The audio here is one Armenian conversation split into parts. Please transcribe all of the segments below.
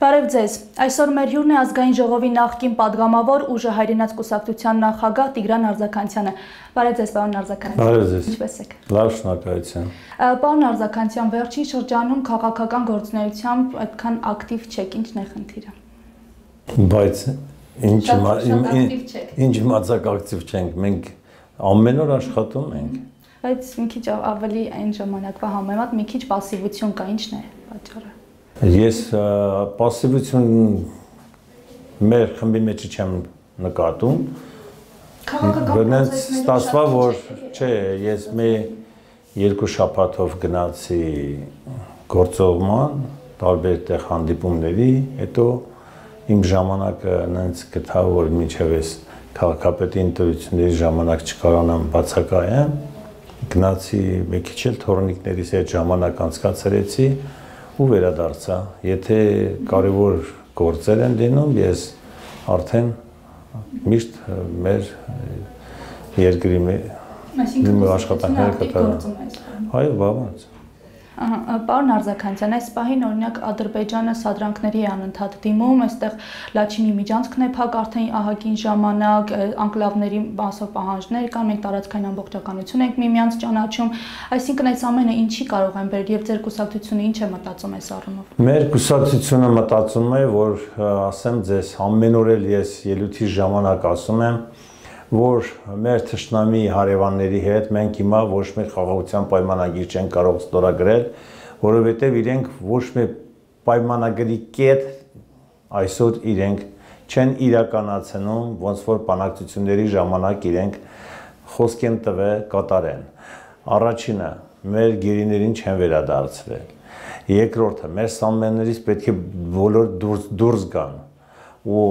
Բարև ձեզ, այսօր մեր հյուրն է ազգային ժողովի նախկին падգամավոր ուժը հայրենաց կուսակցության նախագահ Տիգրան Արձաքանցյանը։ Բարև ձեզ, պարոն Արձաքանցյան։ Բարև ձեզ։ Ինչպե՞ս եք։ Լավ, շնորհակալություն։ Պարոն Արձաքանցյան, վերջին շրջանում քաղաքական գործունեությամբ այդքան ակտիվ չեք, ինչն է խնդիրը։ Բայց ինչ իմացակ ակտիվ չենք, մենք ամեն օր աշխատում ենք։ Բայց մի քիչ ավելի այն ժամանակվա համեմատ մի քիչ пассивություն կա, ինչն է պատճառը։ Ես пассивություն մեր խմբի մեջ չեմ նկատում։ Բնած ստացվա, որ չէ, ես մի երկու շաբաթով գնացի գործողման, տարբեր տեղ հանդիպումների, հետո իմ ժամանակը նենց գտա, որ մինչև ես քաղաքապետի ընտրությունների ժամանակ չկարողանամ բացակայեմ, գնացի մի քիչ էլ թորնիկներիս հետ ժամանակ անցկացրեցի ու վերադարձա։ Եթե կարևոր գործեր են լինում, ես արդեն միշտ մեր երկրի աշխատանքները կատարում։ Այո, բավարար։ Պարոն Արձաքանցյան, այս պահին օրինակ Ադրբեջանը սադրանքների է անընդհատ դիմում, այստեղ Լաչինի միջանցքն է փակ արդեն ահագին ժամանակ, անկլավների մասով պահանջներ կան, մենք տարածքային ամբողջականություն ենք միմյանց ճանաչում, այսինքն այս ամենը ինչի կարող են բերել եւ ձեր կուսակցությունը ինչ է մտածում այս առումով։ Մեր կուսակցությունը մտածում է, որ ասեմ ձեզ, ամեն օր էլ ես ելույթի ժամանակ ասում եմ, որ մեր թշնամի հարևանների հետ մենք հիմա ոչ մի խաղաղության պայմանագիր չենք կարող ստորագրել, որովհետև իրենք ոչ մի պայմանագրի կետ այսօր իրենք չեն իրականացնում, ոնց որ բանակցությունների ժամանակ իրենք խոսք են տվել կատարեն։ Առաջինը, մեր գերիներին չեն վերադարձրել։ Երկրորդը, մեր սամեններից պետք է բոլոր դուրս գան ու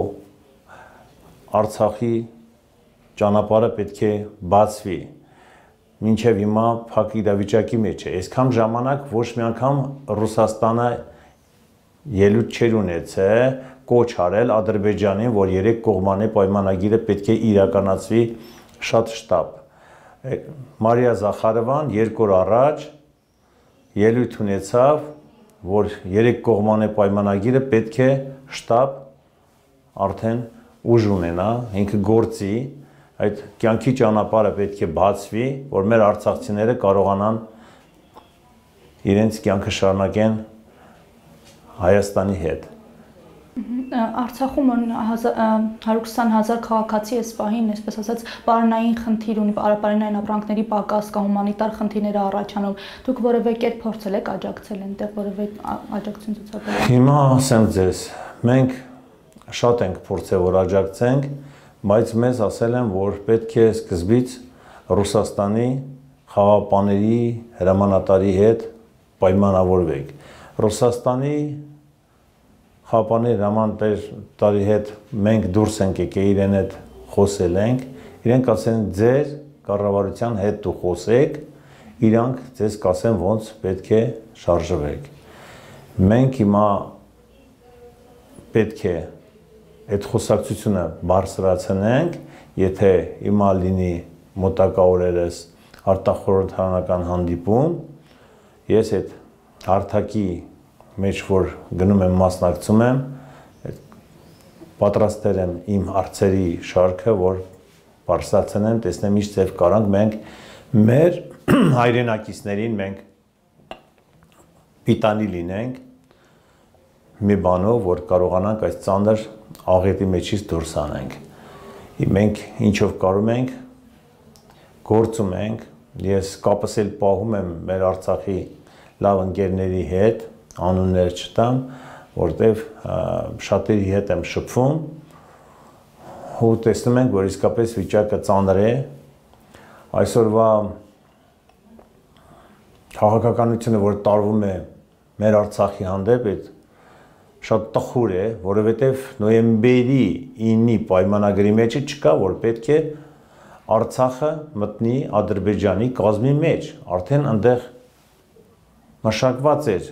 Արցախի ճանապարհը պետք է բացվի, մինչև հիմա փակ իրավիճակի մեջ է։ Այսքան ժամանակ ոչ մի անգամ Ռուսաստանը ելույթ չէր ունեցել կոչ արել Ադրբեջանին, որ երեք կողմանի պայմանագիրը պետք է իրականացվի շատ շտապ։ Մարիա Զախարովան 2 օր առաջ ելույթ ունեցավ, որ երեք կողմանի պայմանագիրը պետք է շտապ արդեն ուժ ունենա, ինքը գործի, այդ կյանքի ճանապարհը պետք է բացվի, որ մեր արցախցիները կարողանան իրենց կյանքը շարունակեն Հայաստանի հետ։ Արցախում 120,000 քաղաքացի այս պահին, այսպես ասած, պարենային խնդիր ունի, պարենային ապրանքների պակաս կա, հումանիտար խնդիրներ առաջանում։ Դուք որևէ կերպ փորձել եք աջակցել այնտեղ, որևէ աջակցություն ցուցաբերել։ Հիմա ասեմ ձեզ, մենք շատ ենք փորձել որ աջակցենք, բայց մեզ ասել են, որ պետք է սկզբից Ռուսաստանի խաղաղապահների հրամանատարի հետ պայմանավորվեք։ Ռուսաստանի խաղաղապահների հրամանատարի հետ մենք դուրս ենք եկել, իրեն հետ խոսել ենք, իրենք ասել են ձեր կառավարության հետ դու խոսեք, իրանք ձեզ կասեն ոնց պետք է շարժվեք։ Մենք հիմա պետք է այդ խոսակցությունը բարձրացնենք, եթե հիմա լինի մոտակա օրերս արտախորհրդարանական հանդիպում, ես այդ հարթակի մեջ որ գնում եմ մասնակցում եմ, պատրաստել եմ իմ հարցերի շարքը, որ բարձրացնեմ, տեսնեմ ինչ ձև կարանք մենք մեր հայրենակիցներին մենք պիտանի լինենք մի բանով, որ կարողանանք այս ծանր աղետի մեջից դուրս անենք։ Մենք ինչով կարում ենք, գործում ենք, ես կապս էլ պահում եմ մեր Արցախի լավ ընկերների հետ, անուններ չտամ, որտեվ շատերի հետ եմ շփվում, ու տեսնում ենք, որ իսկապես վիճակը ծանր է, այսօրվա քաղաքականությունը, որ տարվում է մեր Արցախի հանդեպ, այդ շատ տխուր է, որովհետև նոյեմբերի 9-ի պայմանագրի մեջ չկա, որ պետք է Արցախը մտնի Ադրբեջանի կազմի մեջ, արդեն այնտեղ մշակված էր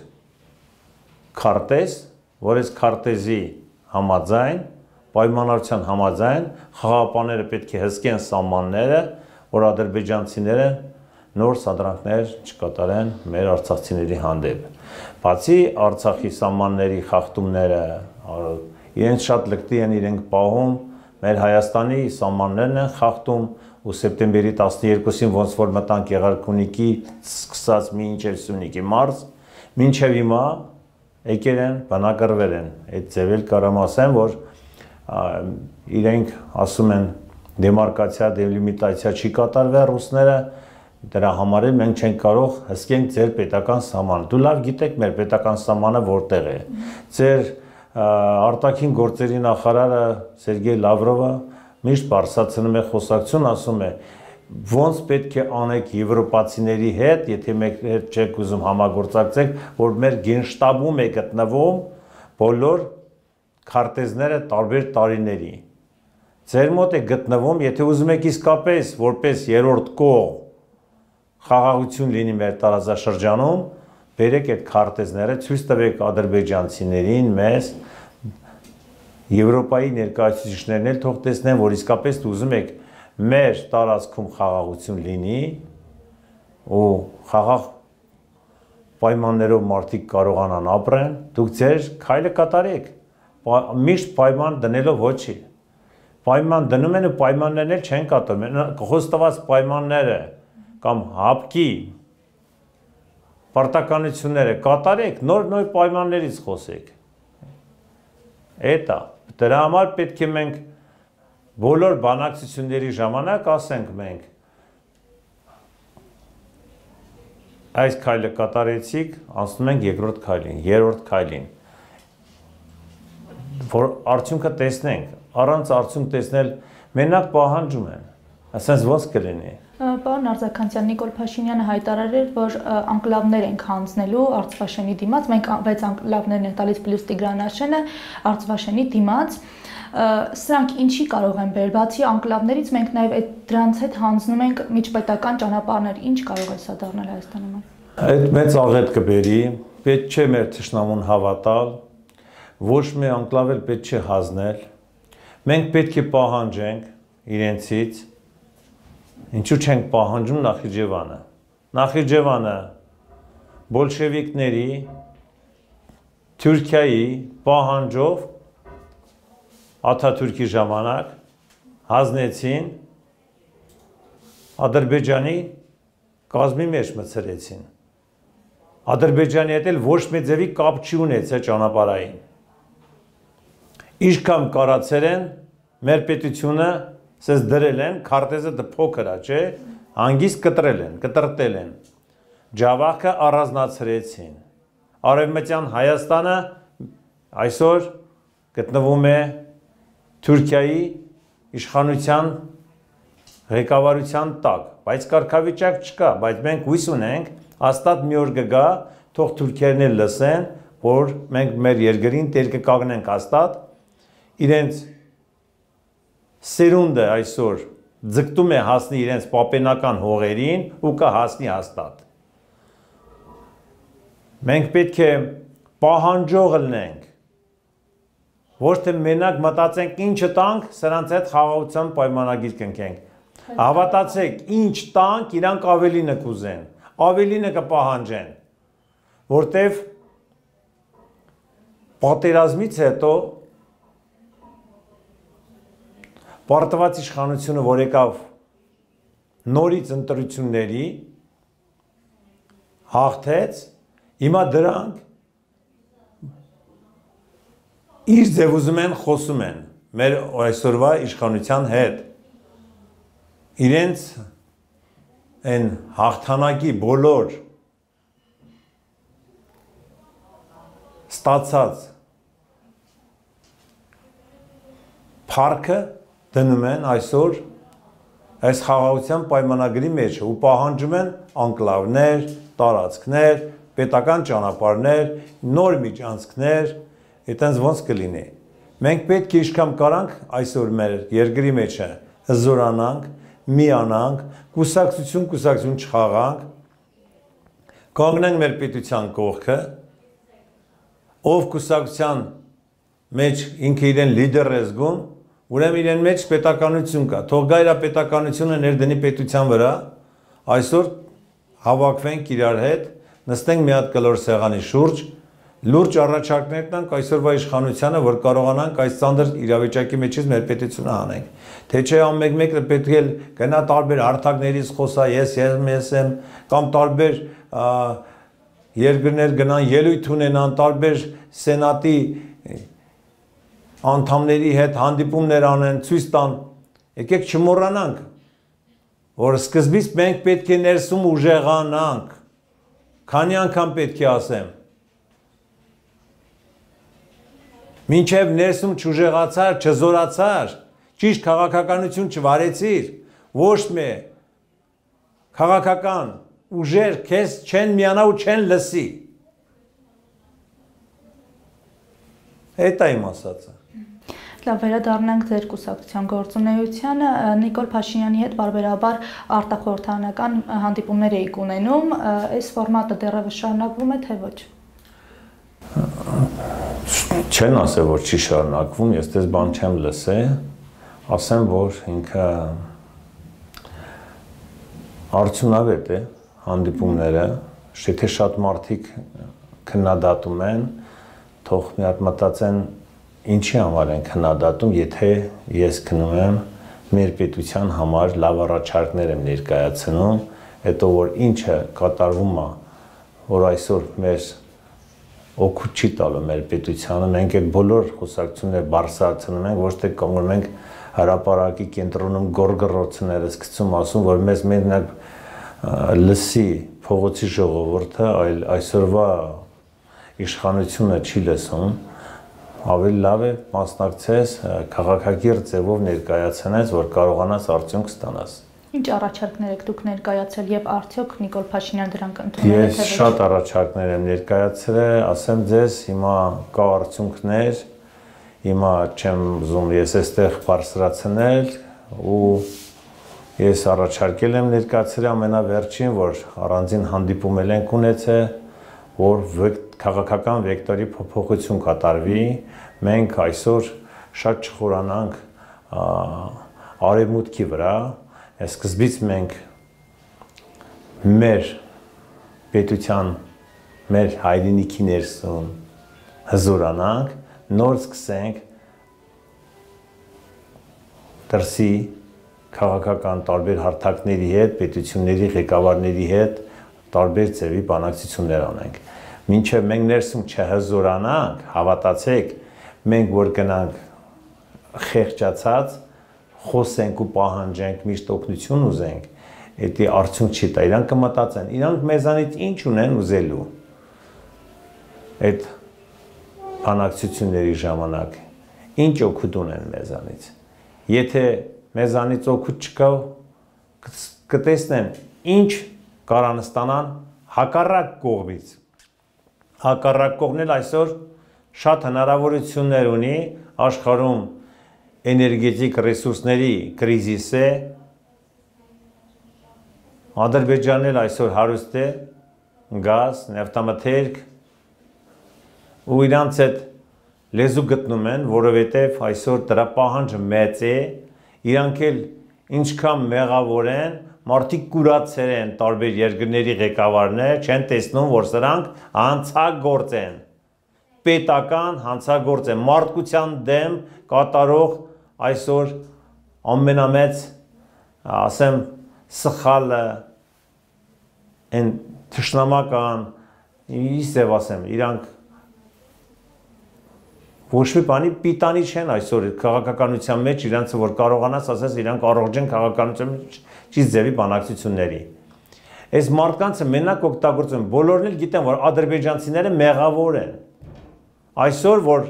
քարտեզ, որ այս քարտեզի համաձայն, պայմանավորության համաձայն խաղաղապահները պետք է հսկեն սահմանները, որ ադրբեջանցիները նոր սադրանքներ չկատարեն մեր արցախցիների հանդեպ։ Բացի Արցախի սահմանների խախտումները, իրենց շատ լկտի են իրենք պահում, մեր Հայաստանի սահմաններն են խախտում ու սեպտեմբերի 12-ին ոնց որ մտանք Եղարքունիքից սկսած մինչև Սյունիքի մարզ, մինչև հիմա եկել են, բնակարվել են։ Այդ ձևել կարամ ասեմ, որ իրենք ասում են դեմարկացիա, դելիմիտացիա չի կատարվել ռուսները, դրա համար էլ մենք չենք կարող հսկենք ձեր պետական սահմանը։ Դու լավ գիտեք մեր պետական սահմանը որտեղ է։ Ձեր արտաքին գործերի նախարարը Սերգեյ Լավրովը միշտ բարձրացնում է խոսակցություն, ասում է ոնց պետք է անեք եվրոպացիների հետ, եթե մեկ հետ չեք ուզում համագործակցեք, որ մեր գենշտաբում է գտնվում բոլոր քարտեզները տարբեր տարիների։ Ձեր մոտ է գտնվում, եթե ուզում եք իսկապես որպես երրորդ կողմ խաղաղություն լինի մեր տարածաշրջանում, բերեք այդ քարտեզները, ցույց տվեք ադրբեջանցիներին, մեզ, Եվրոպայի ներկայացուցիչներն էլ թող տեսնեն, որ իսկապես ուզում եք մեր տարածքում խաղաղություն լինի ու խաղաղ պայմաններով մարդիկ կարողանան ապրեն, դուք ձեր քայլը կատարեք, միշտ պայման դնելով ոչի։ Պայման դնում են ու պայմաններն էլ չեն կատարում, խոստված պայմանները կամ հապկի պարտականությունները կատարեք, նոր պայմաններից խոսեք։ Էտա, դրա համար պետք է մենք բոլոր բանակցությունների ժամանակ ասենք մենք այս քայլը կատարեցիք, անցնում ենք երկրորդ քայլին, երրորդ քայլին, որ արդյունքը տեսնենք, առանց արդյունք տեսնել մենակ պահանջում են, ասենց ոնց կլինի։ Պարոն Արձաքանցյան, Նիկոլ Փաշինյանը հայտարարել, որ անկլավներ ենք հանձնելու Արցվաշենի դիմաց, մենք 6 անկլավներն են տալիս պլյուս Տիգրան Արցվաշենի դիմաց, սրանք ինչի կարող են բերել, բացի անկլավներից մենք նաև դրանց հետ հանձնում ենք միջպետական ճանապարհներ, ինչ կարող է սա դառնալ Հայաստանում։ Այդ մեծ աղետ կբերի, պետք չէ մեր թշնամուն հավատալ, ոչ մի անկլավ էլ պետք չէ հանձնել, մենք պետք է պահանջենք իրենցից, ինչու չենք պահանջում Նախիջևանը։ Նախիջևանը բոլշևիկների, Թուրքիայի պահանջով Աթաթուրքի ժամանակ հանձնեցին, Ադրբեջանի կազմի մեջ մտցրեցին։ Ադրբեջանի հետ էլ ոչ մի ձևի կապ չի ունեցել ճանապարհային։ Ինչքան կարացել են մեր պետությունը սես դրել են, քարտեզը փոքր է, չէ, հանգիստ կտրտել են, ջավախը առանձնացրեցին, արևմտյան Հայաստանը այսօր գտնվում է Թուրքիայի իշխանության ղեկավարության տակ, բայց կարգավիճակ չկա, բայց մենք հույս ունենք, հաստատ մի օր կգա, թող թուրքերն էլ լսեն, որ մենք մեր երկրին տեր կկանգնենք հաստատ, իրենց սերունդը այսօր ձգտում է հասնի իրենց պապենական հողերին ու կհասնի հաստատ։ Մենք պետք է պահանջող լինենք, ոչ թե մենակ մտածենք ինչը տանք, սրանց հետ խաղաղության պայմանագիր կնքենք։ Հավատացեք, ինչ տանք, իրանք ավելինը կուզեն, ավելինը կպահանջեն, որտև պատերազմից հետո պարտված իշխանությունը, որ եկավ նորից ընտրությունների, հաղթեց, հիմա դրանք իր ձև ուզում են խոսում են մեր այսօրվա իշխանության հետ։ Իրենց են հաղթանակի բոլոր ստացած փառքը դնում են այսօր այս խաղաղության պայմանագրի մեջ ու պահանջում են անկլավներ, տարածքներ, պետական ճանապարհներ, նոր միջանցքներ, այտենց ոնց կլինի։ Մենք պետք է ինչքան կարանք այսօր մեր երկրի մեջ հզորանանք, միանանք, կուսակցություն չխաղանք, կանգնենք մեր պետության կողքը, ով կուսակցության մեջ ինքը իրեն լիդեր է զգում, ուրեմն իրեն մեջ պետականություն կա, թող գա իր պետականությունը ներդնի պետության վրա, այսօր հավաքվենք իրար հետ, նստենք մի հատ կլոր սեղանի շուրջ, լուրջ առաջարկներ տանք այսօրվա իշխանությանը, որ կարողանանք այս ծանր իրավիճակի մեջից մեր պետությունը հանենք։ Թե չէ ամեն-մեկը պետք է գնա տարբեր հարթակներից խոսա, ես եմ, կամ տարբեր երկրներ գնան ելույթ ունենան, տարբեր սենատի անդամների հետ հանդիպումներ անեն, ցույց տան։ Եկեք չմոռանանք, որ սկզբից մենք պետք է ներսում ուժեղանանք։ Քանի անգամ պետք է ասեմ։ Մինչև ներսում չուժեղացար, չզորացար, ճիշտ քաղաքականություն չվարեցիր, ոչ մի քաղաքական ուժեր քեզ չեն միանա ու չեն լսի։ Էդ է իմ ասածը։ Լավ, վերադառնանք ձեր կուսակցության գործունեությանը, Նիկոլ Փաշինյանի հետ բարբերաբար արտախորհրդարանական հանդիպումներ եք ունենում, այս ֆորմատը դեռևս շարունակվում է, թե ոչ։ Չեն ասել, որ չի շարունակվում, ես դες բան չեմ լսել, ասեմ, որ ինքը արդյունավետ է հանդիպումները, եթե շատ մարդիկ քննադատում են, թող մի հատ մտածեն ինչի համար են քննադատում, եթե ես քնում եմ մեր պետության համար լավ առաջարկներ եմ ներկայացնում, հետո որ ինչը կատարվում է, որ այսօր մեր օգուտ չի տալու մեր պետությանը, մենք այդ բոլոր խոսակցությունները բարձրացնում ենք, ոչ թե կանգնում ենք հրապարակի կենտրոնում գորգռոցները սկսում ասում, որ մեզ մենակ լսի փողոցի ժողովուրդը, այլ այսօրվա իշխանությունը չի լսում, ավելի լավ է մասնակցես քաղաքակիրթ ձևով ներկայացնես, որ կարողանաս արդյունք ստանաս։ Ինչ առաջարկներ եք դուք ներկայացել եւ արդյոք Նիկոլ Փաշինյանը դրանք ընդունել է թե ոչ։ Ես շատ առաջարկներ եմ ներկայացրել, ասեմ ձեզ, հիմա կա արդյունքներ, հիմա չեմ ուզում ես այստեղ բարձրացնել ու ես առաջարկել եմ ներկայացրել ամենավերջին, որ առանձին հանդիպում ենք ունեցել, որ քաղաքական վեկտորի փոփոխություն կատարվի, մենք այսօր շատ չխորանանք արևմուտքի վրա, սկզբից մենք մեր պետության, մեր հայրենիքի ներսում հզորանանք, նոր սկսենք դրսի քաղաքական տարբեր հարթակների հետ, պետությունների ղեկավարների հետ տարբեր ձևի բանակցություններ անենք։ Մինչև մենք ներսում չհզորանանք, հավատացեք, մենք որ գնանք խեղճացած, խոսենք ու պահանջենք, միշտ օգնություն ուզենք, դա արդյունք չի տա, իրանք կմտածեն, իրանք մեզանից ինչ ունեն ուզելու այդ բանակցությունների ժամանակ, ինչ օգուտ ունեն մեզանից։ Եթե մեզանից օգուտ չկա, կտեսնեն ինչ կարան ստանան հակառակ կողմից։ Հակառակ կողմն էլ այսօր շատ հնարավորություններ ունի աշխարհում էներգետիկ ռեսուրսների կրիզիս է, Ադրբեջանն էլ այսօր հարուստ է գազ, նավթամթերք ու իրանց այդ լեզու գտնում են, որովհետև այսօր դրա պահանջը մեծ է, իրանք էլ ինչքան մեղավոր են, մարդիկ կուրացել են տարբեր երկրների ղեկավարներ, չեն տեսնում, որ սրանք հանցագործ են, պետական հանցագործ են, մարդկության դեմ կատարող այսօր ամենամեծ, ասեմ, սխալը, են թշնամական, իսև ասեմ, իրանք ոչ մի բանի պիտանի չեն այսօր քաղաքականության մեջ իրանց որ կարողանաս ասես իրանք առողջ են քաղաքականության մեջ ճիշտ ձևի բանակցությունների։ Այս մարդկանցը մենակ օգտագործում են, բոլորն էլ գիտեն, որ ադրբեջանցիները մեղավոր են։ Այսօր որ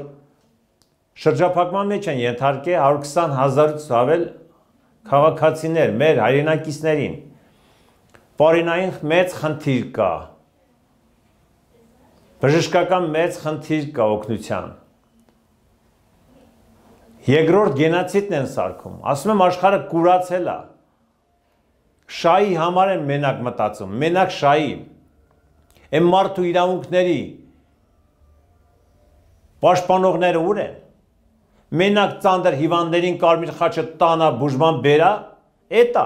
շրջափակման մեջ են ենթարկել 120,000-ից ավել քաղաքացիներ, մեր հայրենակիցներին, պարենային մեծ խնդիր կա, բժշկական մեծ խնդիր կա օգնության։ Երկրորդ գենոցիդն են սարքում, ասում եմ աշխարհը կուրացել է, շահի համար են մենակ մտածում, մենակ շահի, այն մարդու իրավունքների պաշտպանողները ուր են, մենակ ծանր հիվանդներին կարմիր խաչը տանա բուժման բերա, էտա,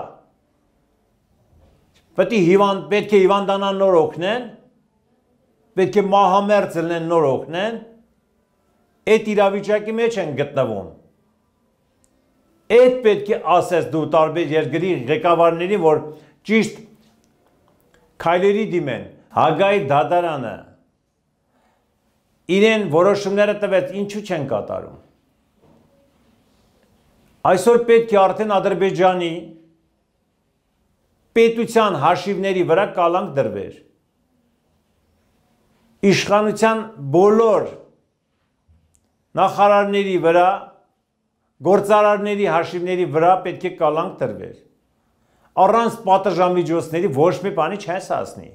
պետք է հիվանդանան նոր օգնեն, պետք է մահամերձ լինեն նոր օգնեն, այդ իրավիճակի մեջ են գտնվում։ Այդ պետք է ասես դու տարբեր երկրի ղեկավարներին, որ ճիշտ քայլերի դիմեն, Հագայի դատարանը իրեն որոշումները տվեց, ինչու չեն կատարում։ Այսօր պետք է արդեն Ադրբեջանի պետության հաշիվների վրա կալանք դրվեր։ Իշխանության բոլոր նախարարների վրա, գործարարների հաշիվների վրա պետք է կալանք դրվեր։ Առանց պատժամիջոցների ոչ մի բանի չես հասնի։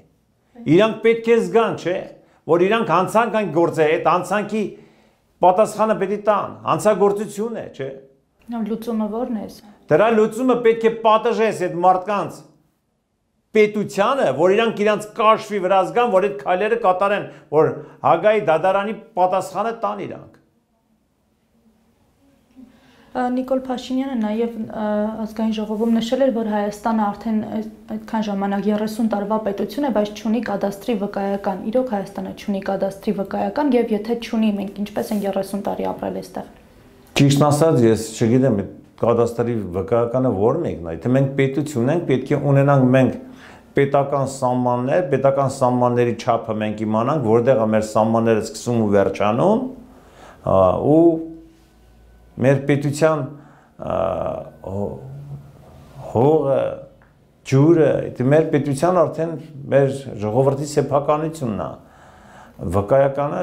Իրանք պետք է զգան, չէ, որ իրանք հանցանք այն գործը, այդ հանցանքի պատասխանը պետք է տան, հանցագործություն է, չէ։ Լուծումը ո՞րն է։ Դրա լուծումը պետք է պատժես այդ մարդկանց պետությանը, որ իրանք իրանց կաշվի վրա զգան, որ այդ քայլերը կատարեն, որ Հագայի դատարանի պատասխանը տան իրանք։ Նիկոլ Փաշինյանը նաև ազգային ժողովում նշել էր, որ Հայաստանը արդեն այդքան ժամանակ 30 տարվա պետություն է, բայց չունի կադաստրի վկայական։ Իրոք Հայաստանը չունի կադաստրի վկայական, եւ եթե չունի, մենք ինչպես են 30 տարի ապրել այստեղ։ Ճիշտ ասած, ես չգիտեմ, կադաստրի վկայականը ո՞ր մեկն է։ Եթե մենք պետություն ենք, պետք է ունենանք մենք պետական սահմաններ, պետական սահմանների չափը մենք իմանանք, որտեղ է մեր սահմանները սկսում ու վերջանում, ու մեր պետության հողը, ջուրը, մեր պետության արդեն մեր ժողովրդի սեփականությունն է։ Վկայականը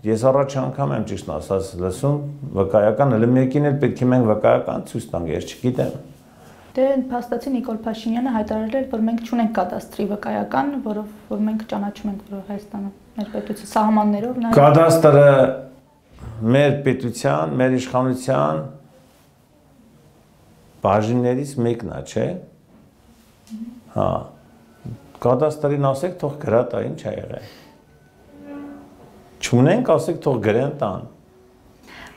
ես առաջ անգամ եմ ճիշտ ասած լսում, վկայական հələ մեկին էլ պետք է մենք վկայական ցույց տանք, ես չգիտեմ։ Դե փաստացի Նիկոլ Փաշինյանը հայտարարել էր, որ մենք չունենք կադաստրի վկայական, որ մենք ճանաչում ենք, որ Հայաստանը մեր պետության սահմաններով նաև կադաստրը մեր պետության, մեր իշխանության բաժիններից մեկն է, չէ։ Հա։ Կադաստրին ասեք, թող գրա տա, ինչ է եղել։ Չունենք, ասեք, թող գրեն տան։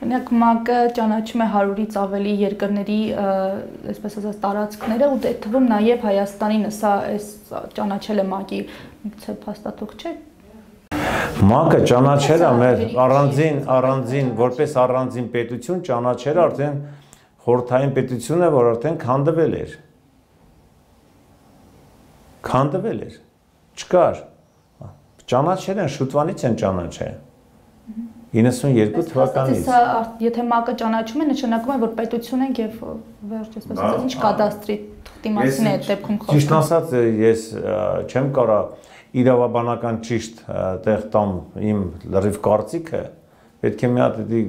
Օրինակ ՄԱԿ-ը ճանաչում է 100-ից ավելի երկրների, այսպես ասած, տարածքները ու այդ թվում նաև Հայաստանին, սա այս ճանաչել է ՄԱԿ-ի միգուցե փաստաթուղթ չէ։ ՄԱԿ-ը ճանաչել է մեր առանձին, որպես առանձին պետություն ճանաչել արդեն խորհրդային պետություն է, որ արդեն քանդվել էր։ Քանդվել էր։ Չկար։ Ճանաչել են, շուտվանից են ճանաչել։ 92 թվականից։ Եթե ՄԱԿ-ը ճանաչում է, նշանակում է, որ պետություն ենք եւ վերջ, այսպես ասած, ինչ կադաստրի թղթի մասին է այդ դեպքում խոսքը։ Ճիշտ ասած, ես չեմ կարող իրավաբանական ճիշտ տեղ տամ իմ լրիվ կարծիքը, պետք է մի հատ դի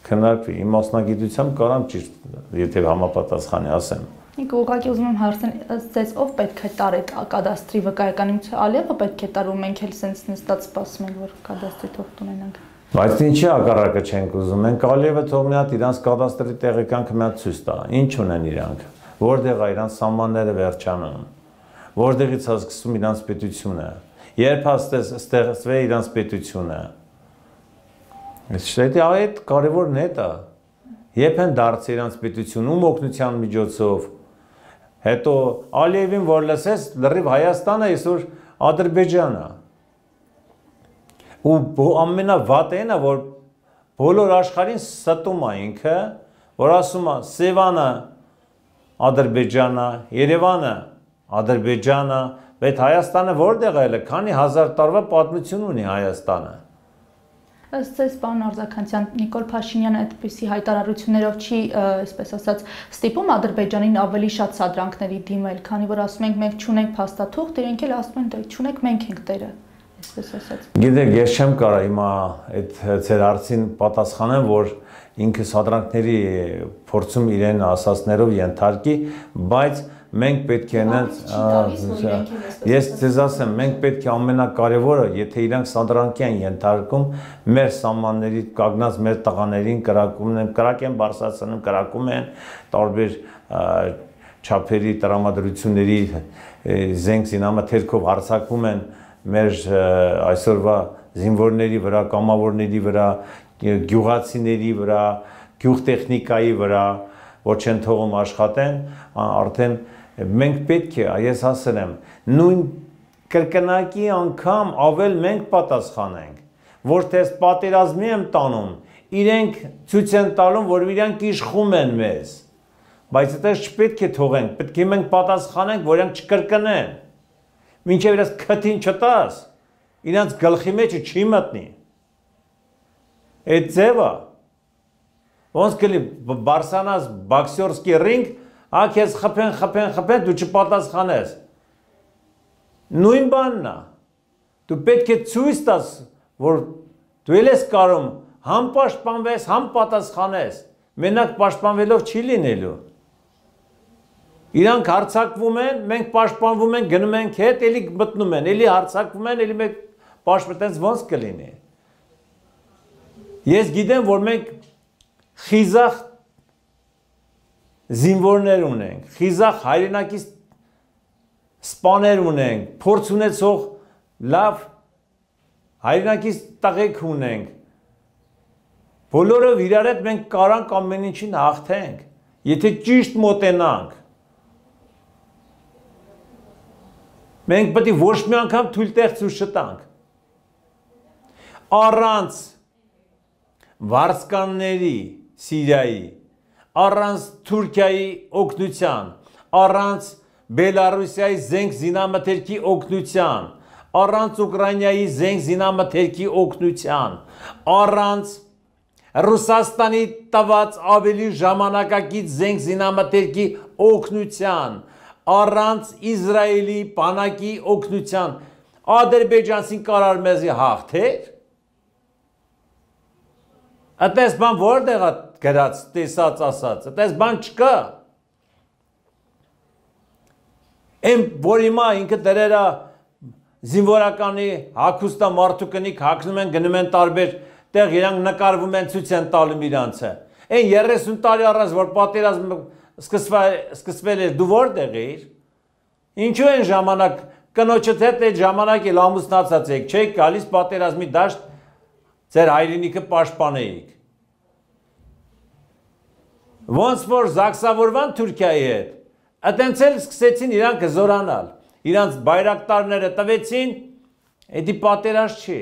քննարկվի, իմ մասնագիտությամբ կարամ ճիշտ, եթե համապատասխանի ասեմ։ Ինքը ուղղակի ուզում եմ հարցնել, ձեզ ով պետք է տար այդ կադաստրի վկայական, ինչ Ալիևը պետք է տար ու մենք էլ սենց նստած սպասում ենք, որ կադաստրի թղթ ունենանք։ Բայց ինչի հակառակը չենք ուզում, մենք Ալիևը թող մի հատ իրանց կադաստրի տեղեկանքը մի հատ ցույց տա, ինչ ունեն իրանք, որտեղ է իրանց սահմանները վերջանում, որտեղից է սկսում իրանց պետությունը, երբ է ստեղծվել իրանց պետությունը։ Այդ կարևորն է դա։ Երբ են դարձել իրանց պետություն, ում օգնության միջոցով, հետո Ալիևին որ լսես, լրիվ Հայաստանը այսօր Ադրբեջանը։ Ու ամենավատն է, որ բոլոր աշխարհին ստում է ինքը, որ ասում է Սևանը Ադրբեջանը, Երևանը Ադրբեջանը, բայց Հայաստանը որտեղ է, քանի հազար տարվա պատմություն ունի Հայաստանը։ Ըստ ձեզ, պարոն Արձաքանցյան, Նիկոլ Փաշինյանը այդպիսի հայտարարություններով չի, այսպես ասած, ստիպում Ադրբեջանին ավելի շատ սադրանքների դիմել, քանի որ ասում ենք մենք չունենք փաստաթուղթ, իրենք էլ ասում են դե չունենք մենք ենք տերը, այսպես ասած։ Գիտեք, ես չեմ կարող հիմա այդ ձեր հարցին պատասխանեմ, որ ինքը սադրանքների փորձում իրեն ասածներով ենթարկի, բայց մենք պետք է ես ձեզ ասեմ, մենք պետք է ամենակարևորը, եթե իրանք սադրանքի են ենթարկում, մեր սահմանների կանգնած մեր տղաներին կրակ են բարձրացնում, կրակում են տարբեր չափերի տրամադրությունների զենք զինամթերքով հարձակվում են մեր այսօրվա զինվորների վրա, կամավորների վրա, գյուղացիների վրա, գյուղտեխնիկայի վրա, որ չեն թողում աշխատեն, արդեն Մենք պետք է, ես ասել եմ, նույն կրկնակի անգամ ավել մենք պատասխանենք, որ թե պատերազմի եմ տանում, իրենք ցույց են տալում, որ իրենք իշխում են մեզ, բայց այդպես չպետք է թողենք, պետք է մենք պատասխանենք, որ իրենք չկրկնեն, մինչև իրենց քթին չտաս, իրենց գլխի մեջը չի մտնի, այդ ձևը, ոնց կլի բարսանաս բոքսերսկի ռինգ, քեզ խփեն, դու չպատասխանես, նույն բանն է, դու պետք է ցույց տաս, որ դու ես կարող համ պաշտպանվես, համ պատասխանես, մենակ պաշտպանվելով չի լինելու, իրանք հարձակվում են, մենք պաշտպանվում ենք, գնում ենք հետ, էլի մտնում են, էլի հարձակվում են, էլի մենք պաշտպանենք, ոնց կլինի, ես գիտեմ, որ մենք խիզախ զինվորներ ունենք, խիզախ հայրենակից սպաներ ունենք, փորձ ունեցող լավ հայրենակից տղեկ ունենք, բոլորով իրար հետ մենք կարանք ամեն ինչին հաղթենք, եթե ճիշտ մոտենանք, մենք պետք է ոչ մի անգամ թույլ տեղ ցույց չտանք, առանց վարձկանների Սիրիայի, առանց Թուրքիայի օգնության, առանց Բելարուսիայի զենք զինամթերքի օգնության, առանց Ուկրաինայի զենք զինամթերքի օգնության, առանց Ռուսաստանի տված ավելի ժամանակակից զենք զինամթերքի օգնության, առանց Իսրայելի բանակի օգնության, Ադրբեջանցին կարար մեզի հաղթեր, այդպես բան որտեղ է գրած, տեսած ասած, այդպես բան չկա, Եմ որ հիմա ինքը դրերա զինվորականի հագուստա մարդու կնիկ հագնում են, գնում են տարբեր տեղ իրանք նկարվում են, ցույց են տալում իրանցը, Այն 30 տարի առաջ, որ պատերազմը սկսվել էր, դու որտեղ էիր, ինչու են ժամանակ, կնոջդ հետ այդ ժամանակ էլ ամուսնացած եք, չեք գալիս պատերազմի դաշտ, ձեր հայրենիքը պաշտպանեիք, ոնց որ զաքսավորվան Թուրքիայի հետ, Այդենց էլ սկսեցին իրանք զորանալ, իրանք բայրակտարները տվեցին, էդի պատերազմ չի,